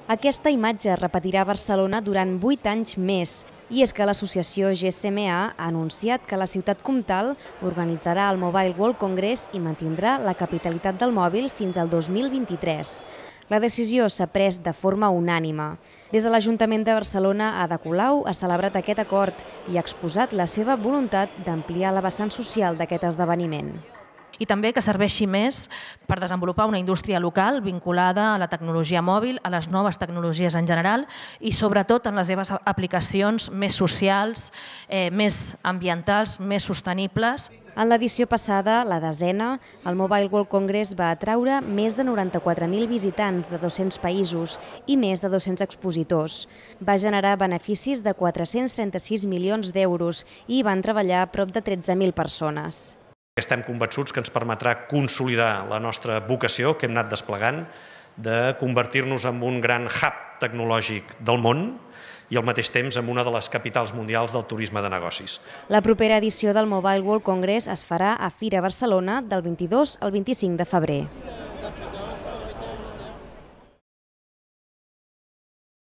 Aquesta imatge es repetirà a Barcelona durant 8 anys més. I és que l'associació GSMA ha anunciat que la ciutat comtal organitzarà el Mobile World Congress i mantindrà la capitalitat del mòbil fins al 2023. La decisió s'ha pres de forma unànime. Des de l'Ajuntament de Barcelona, Ada Colau ha celebrat aquest acord i ha exposat la seva voluntat d'ampliar la vessant social d'aquest esdeveniment. I també que serveixi més per desenvolupar una indústria local vinculada a la tecnologia mòbil, a les noves tecnologies en general i sobretot en les seves aplicacions més socials, més ambientals, més sostenibles. En l'edició passada, la desena, el Mobile World Congress va atraure més de 94.000 visitants de 200 països i més de 200 expositors. Va generar beneficis de 436 milions d'euros i van treballar a prop de 13.000 persones. Estem convençuts que ens permetrà consolidar la nostra vocació que hem anat desplegant de convertir-nos en un gran hub tecnològic del món i al mateix temps en una de les capitals mundials del turisme de negocis. La propera edició del Mobile World Congress es farà a Fira Barcelona del 22 al 25 de febrer.